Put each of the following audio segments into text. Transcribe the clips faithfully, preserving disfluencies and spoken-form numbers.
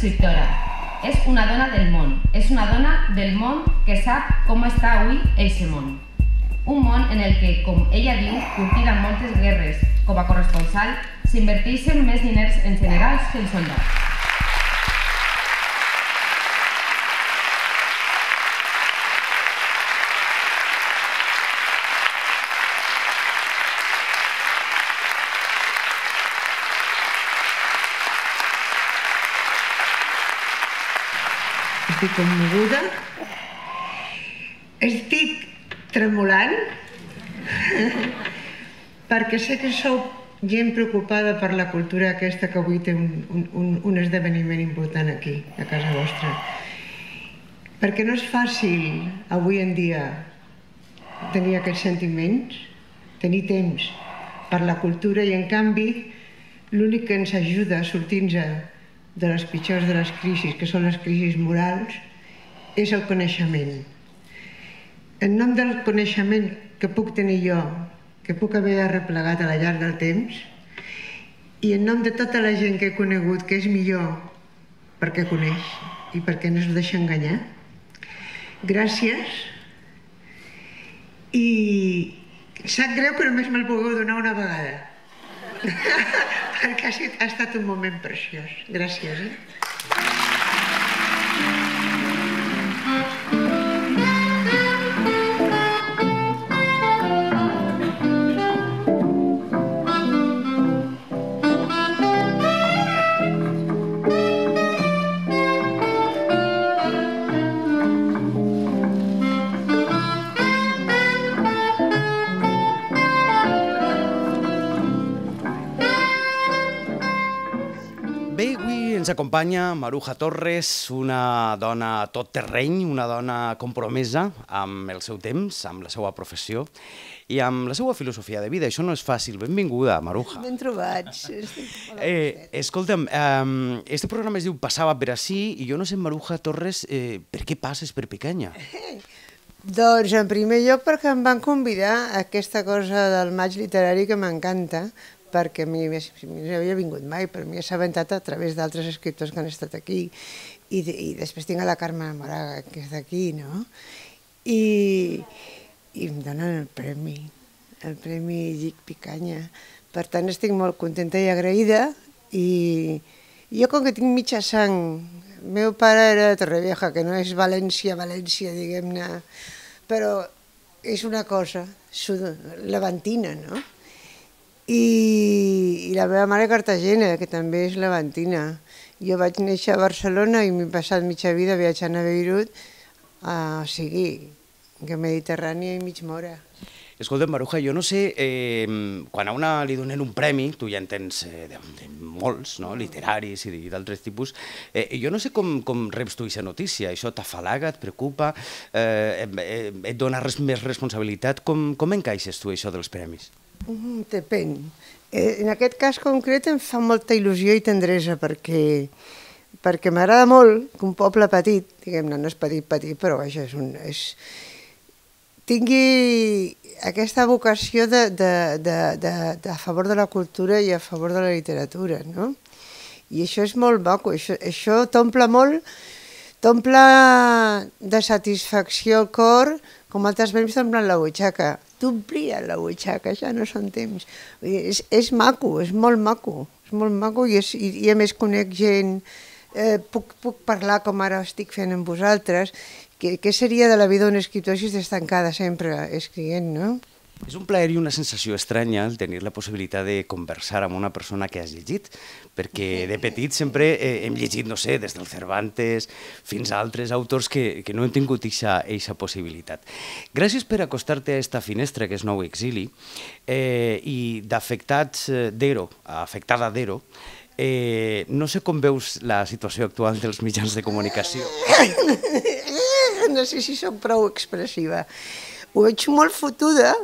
escriptora. És una dona del món. És una dona del món que sap com està avui eixe món. Un món en el que, com ella diu, curtida moltes guerres, com a corresponsal, s'inverteixen més diners en generals que en soldats. Estic commoguda, estic tremolant, perquè sé que sou gent preocupada per la cultura aquesta que avui té un, un, un esdeveniment important aquí, a casa vostra. Perquè no és fàcil avui en dia tenir aquests sentiments, tenir temps per la cultura i en canvi l'únic que ens ajuda a sortir-nos de les pitjors de les crisis, que són les crisis morals, és el coneixement. En nom del coneixement que puc tenir jo, que puc haver arreplegat a la llarg del temps, i en nom de tota la gent que he conegut que és millor perquè coneix i perquè no es deixa enganyar, gràcies. I sap greu que només me'l pugueu donar una vegada. Perquè ha estat un moment preciós. Gràcies, eh? Ens acompanya Maruja Torres, una dona tot terreny, una dona compromesa amb el seu temps, amb la seva professió i amb la seva filosofia de vida. Això no és fàcil. Benvinguda, Maruja. Ben trobats. Eh, escolta'm, eh, este programa es diu Passava per ací i jo no sé, Maruja Torres, eh, per què passes per Picanya? Doncs, en primer lloc, perquè em van convidar a aquesta cosa del maig literari que m'encanta, perquè a mi no havia vingut mai, però m'he assabentat a través d'altres escriptors que han estat aquí. I, i després tinc a la Carme Moraga, que és d'aquí, no? I, i em donen el premi, el Premi Llic Picanya. Per tant, estic molt contenta i agraïda. I jo, com que tinc mitja sang, el meu pare era de Torrevieja, que no és València, València, diguem-ne, però és una cosa levantina, no? I, i la meva mare Cartagena, que també és levantina. Jo vaig néixer a Barcelona i m'he passat mitja vida viatjant a Beirut, o sigui, que Mediterrània i mig mora. Escolta, Maruja, jo no sé, eh, quan a una li donen un premi, tu ja en tens eh, de, de molts, no? Literaris i d'altres tipus, eh, jo no sé com, com reps tu aquesta notícia, això t'afalaga, et preocupa, eh, eh, et dona res, més responsabilitat, com, com encaixes tu això dels premis? Mm, depèn. Eh, en aquest cas concret em fa molta il·lusió i tendresa perquè, perquè m'agrada molt que un poble petit, diguem-ne, no és petit, petit, però vaja, és un, és, tingui aquesta vocació de, de, de, de, de a favor de la cultura i a favor de la literatura, no? I això és molt maco, això, això t'omple molt, t'omple de satisfacció el cor, com altres premis t'omplen la butxaca. T'omplien la butxaca, ja no són temps. És, és maco, és molt maco, és molt maco i, és, i, i a més conec gent, eh, puc, puc parlar com ara estic fent amb vosaltres, què, què seria de la vida d'un escriptor si estàs tancada sempre escrivint, no? És un plaer i una sensació estranya el tenir la possibilitat de conversar amb una persona que has llegit, perquè de petit sempre eh, hem llegit, no sé, des del Cervantes fins a altres autors que, que no hem tingut aquesta possibilitat. Gràcies per acostar-te a aquesta finestra que és Nou Exili eh, i d'afectats d'Ero, afectada d'Ero, eh, no sé com veus la situació actual dels mitjans de comunicació. No sé si soc prou expressiva. Ho veig molt fotuda,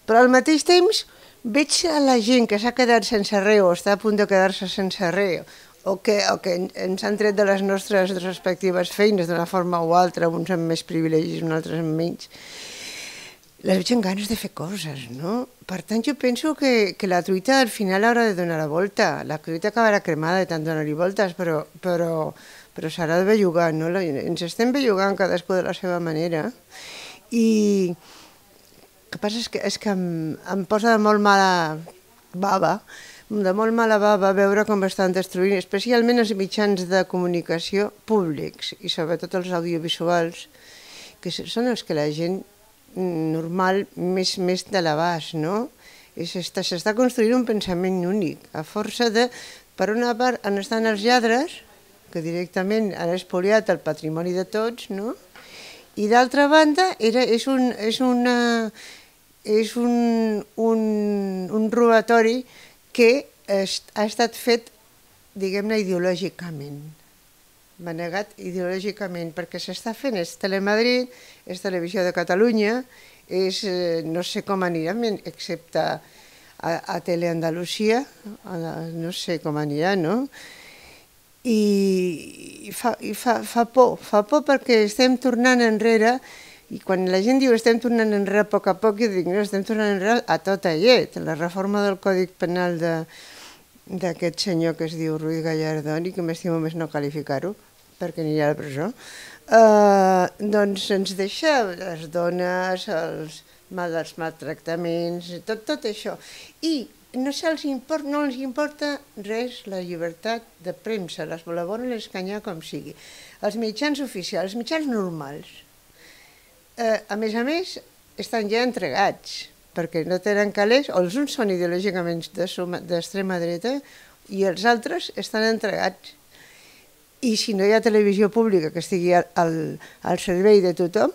però al mateix temps veig a la gent que s'ha quedat sense res o està a punt de quedar-se sense res o que, o que ens han tret de les nostres respectives feines d'una forma o altra, uns amb més privilegis, uns altres amb menys. les veig amb ganes de fer coses, no? Per tant, jo penso que, que la truita al final haurà de donar la volta. La truita acabarà cremada de tant donar-hi voltes, però, però, però s'haurà de bellugar, no? Ens estem bellugant cadascú de la seva manera. I el que passa és que, és que em, em posa de molt mala bava, de molt mala bava veure com estan destruint, especialment els mitjans de comunicació públics i sobretot els audiovisuals, que són els que la gent normal més, més de l'abast, no? S'està construint un pensament únic, a força de, per una part, on estan els lladres, que directament han espoliat el patrimoni de tots, no? I d'altra banda, era, és, un, és, una, és un, un, un robatori que ha estat fet, diguem-ne, ideològicament. Manegat ideològicament, perquè s'està fent, és Telemadrid, és Televisió de Catalunya, és, no sé com anirà, excepte a, a Teleandalusia, no sé com anirà, no? I, i, fa, i fa, fa por, fa por perquè estem tornant enrere, i quan la gent diu estem tornant enrere a poc a poc, jo dic, no, estem tornant enrere a tot llet. La reforma del Codi Penal de d'aquest senyor que es diu Ruiz Gallardón i que m'estimo més no qualificar-ho perquè anirà a la presó, eh, doncs ens deixa les dones, els, els maltractaments, tot, tot això. I no, se'ls import, no els importa res la llibertat de premsa, les la volen escanyar com sigui. Els mitjans oficials, els mitjans normals, eh, a més a més, estan ja entregats, perquè no tenen calés, o els uns són ideològicament d'extrema dreta i els altres estan entregats. I si no hi ha televisió pública que estigui al, al servei de tothom,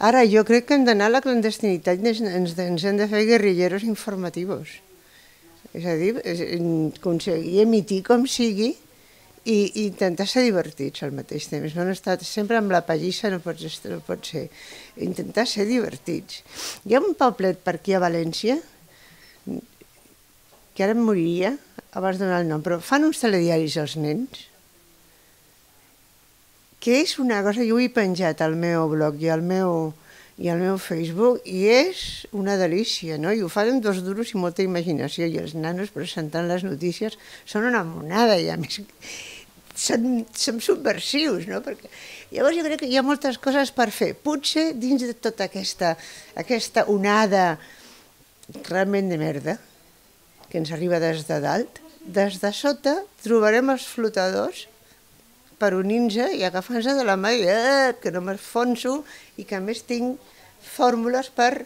ara jo crec que hem d'anar a la clandestinitat i ens, ens, ens hem de fer guerrilleros informatius. És a dir, aconseguir emitir com sigui i, i intentar ser divertits al mateix temps. No estar sempre amb la pallissa, no pot, no pot ser. Intentar ser divertits. Hi ha un poblet per aquí a València, que ara em moriria, abans de donar el nom, però fan uns telediaris als nens, que és una cosa, jo ho he penjat al meu blog i al meu, i al meu Facebook, i és una delícia, no? I ho fan amb dos duros i molta imaginació, i els nanos presentant les notícies són una monada, i a més són, són subversius, no? Perquè llavors jo crec que hi ha moltes coses per fer. Potser dins de tota aquesta, aquesta onada realment de merda que ens arriba des de dalt, des de sota trobarem els flotadors per unir-nos i agafar-nos de la mà i eh, que no m'enfonso i que a més tinc fórmules per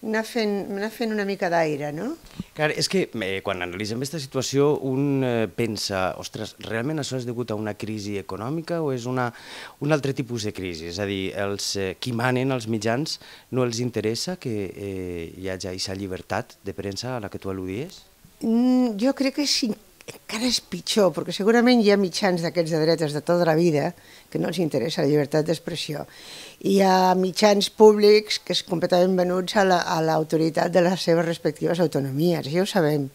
anar fent, anar fent una mica d'aire, no? Clar, és que eh, quan analitzem aquesta situació un eh, pensa, ostres, realment això és degut a una crisi econòmica o és una, un altre tipus de crisi? És a dir, els eh, qui manen als mitjans no els interessa que eh, hi hagi aquesta llibertat de premsa a la que tu al·ludies? Mm, jo crec que sí, encara és pitjor, perquè segurament hi ha mitjans d'aquests de dretes de tota la vida que no els interessa la llibertat d'expressió. Hi ha mitjans públics que és completament venuts a l'autoritat de les seves respectives autonomies, ja ho sabem.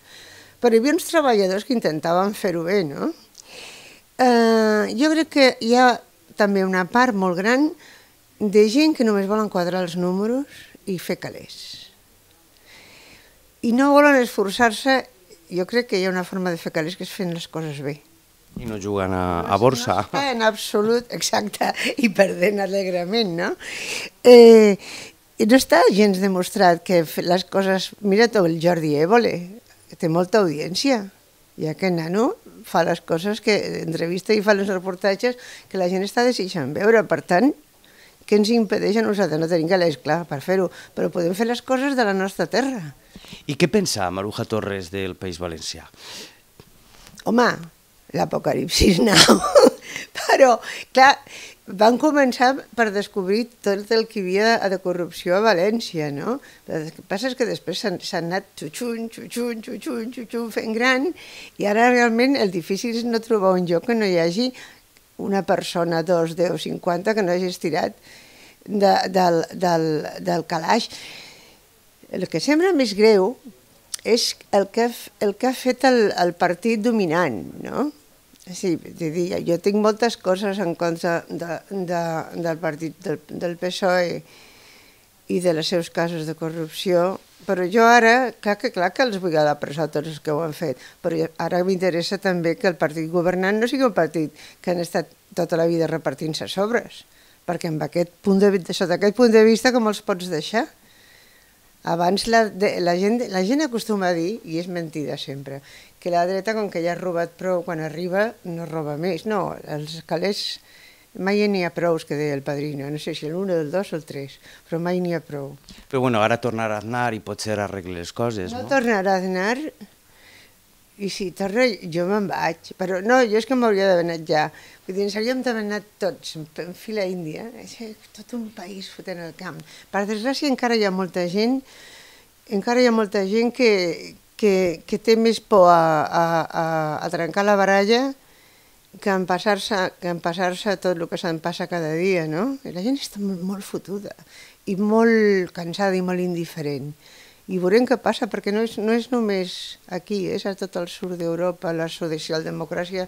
Però hi havia uns treballadors que intentaven fer-ho bé, no? Eh, jo crec que hi ha també una part molt gran de gent que només volen quadrar els números i fer calés. I no volen esforçar-se. Jo crec que hi ha una forma de fer calés que és fent les coses bé. I no jugant a, a borsa. No, en absolut, exacte, i perdent alegrement, no? Eh, no està gens demostrat que les coses... Mira tot el Jordi Évole, que té molta audiència, i aquest nano fa les coses que entrevista i fa els reportatges que la gent està desitjant veure. Per tant, què ens impedeix a nosaltres? No tenim calés, clar, per fer-ho, però podem fer les coses de la nostra terra. I què pensa Maruja Torres del País Valencià? Home, l'apocalipsis now. Però, clar, van començar per descobrir tot el que hi havia de corrupció a València, no? El que passa és que després s'han anat xutxun, xutxun, xutxun, xutxun, fent gran, i ara realment el difícil és no trobar un lloc que no hi hagi una persona, dos, deu, cinquanta, que no hagi estirat de, del, del, del calaix. El que sembla més greu és el que, el que ha fet el, el partit dominant, no? Sí, jo tinc moltes coses en contra de, de, del partit del, del P S O E i de les seus casos de corrupció, però jo ara, clar que, clar que els vull a la presó tots els que ho han fet, però ara m'interessa també que el partit governant no sigui un partit que han estat tota la vida repartint-se sobres, perquè amb aquest punt de, sota aquest punt de vista com els pots deixar? Abans la, de, la, gent, la gent acostuma a dir, i és mentida sempre, que la dreta, com que ja ha robat prou, quan arriba no roba més. No, els calés mai n'hi ha prou, que deia el Padrino, no sé si l'un, el dos o el tres, però mai n'hi ha prou. Però bueno, ara tornarà a anar i potser arregli les coses, no? No tornarà a anar, i si torna jo me'n vaig, però no, jo és que m'hauria d'haver anat ja. Vull dir, ens hauríem d'haver anat tots en fila índia, tot un país fotent el camp. Per desgràcia encara hi ha molta gent, encara hi ha molta gent que, que, que té més por a, a, a, a trencar la baralla que en passar-se que en passar-se tot el que se'n passa cada dia, no? I la gent està molt, molt fotuda i molt cansada i molt indiferent. I veurem què passa, perquè no és, no és només aquí, és a tot el sud d'Europa, la socialdemocràcia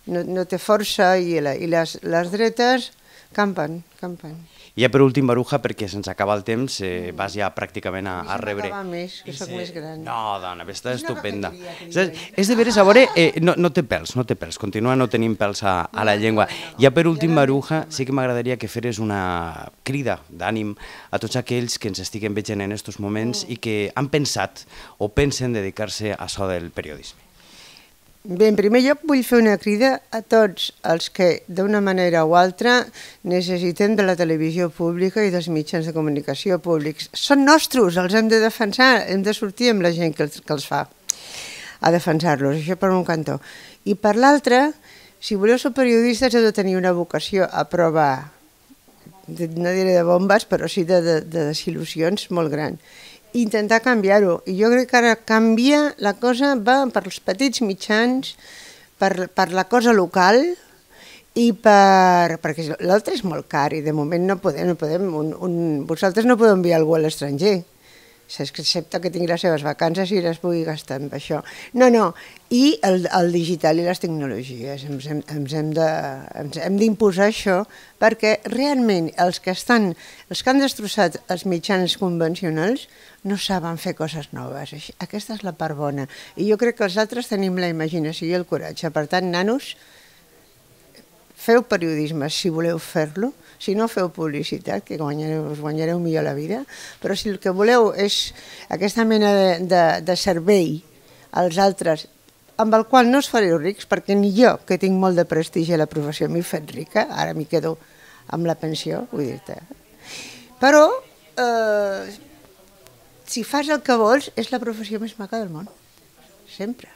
no, no té força i, la, i les, les dretes campen, campen. I ja per últim, Maruja, perquè se'ns acaba el temps, eh, vas ja pràcticament a, a rebre... No més, que soc més gran. No, dona, està estupenda. És de veres, a veure, eh, no, no té pèls, no té pèls, continua no tenint pèls a, a la llengua. Ja per últim, Maruja, sí que m'agradaria que feres una crida d'ànim a tots aquells que ens estiguen veient en aquests moments i que han pensat o pensen dedicar-se a això del periodisme. Bé, en primer lloc vull fer una crida a tots els que d'una manera o altra necessitem de la televisió pública i dels mitjans de comunicació públics. Són nostres, els hem de defensar, hem de sortir amb la gent que els, que els fa a defensar-los, això per un cantó. I per l'altre, si voleu ser periodistes heu de tenir una vocació a prova, no diré de bombes, però sí de, de, de desil·lusions molt gran. Intentar canviar-ho. I jo crec que ara canvia, la cosa va per els petits mitjans, per, per la cosa local i per... perquè l'altre és molt car i de moment no podem... No podem un, un, vosaltres no podeu enviar algú a l'estranger, excepte que tingui les seves vacances i les pugui gastar amb això. No, no, i el, el digital i les tecnologies. Ens hem, ens hem de, ens hem d'imposar això perquè realment els que estan, els que han destrossat els mitjans convencionals no saben fer coses noves. Aquesta és la part bona. I jo crec que els altres tenim la imaginació i el coratge. Per tant, nanos, feu periodisme si voleu fer-lo. Si no, feu publicitat, que guanyareu, us guanyareu millor la vida, però si el que voleu és aquesta mena de, de, de servei als altres, amb el qual no us fareu rics, perquè ni jo, que tinc molt de prestigi a la professió, m'he fet rica, ara m'hi quedo amb la pensió, vull dir-te. Però, eh, si fas el que vols, és la professió més maca del món, sempre.